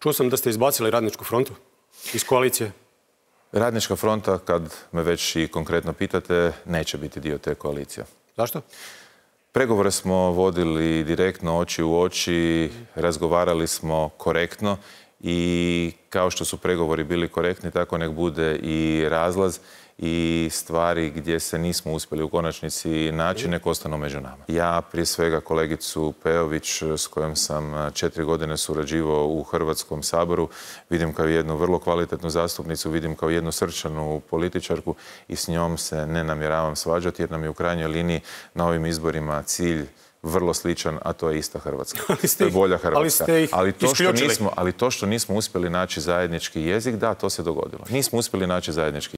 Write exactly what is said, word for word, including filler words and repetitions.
Čuo sam da ste izbacili Radničku frontu iz koalicije. Radnička fronta, kad me već i konkretno pitate, neće biti dio te koalicije. Zašto? Pregovore smo vodili direktno, oči u oči, razgovarali smo korektno i kao što su pregovori bili korektni, tako nek bude i razlaz i stvari gdje se nismo uspjeli u konačnici naći, nek ostanu među nama. Ja prije svega kolegicu Peović, s kojom sam četiri godine surađivao u Hrvatskom saboru, vidim kao jednu vrlo kvalitetnu zastupnicu, vidim kao jednu srčanu političarku i s njom se ne namjeravam svađati jer nam je u krajnjoj liniji na ovim izborima cilj vrlo sličan, a to je ista Hrvatska. To je bolja Hrvatska. Ali, ali, to što nismo, ali to što nismo uspjeli naći zajednički jezik, da, to se dogodilo. Nismo uspjeli naći zajednički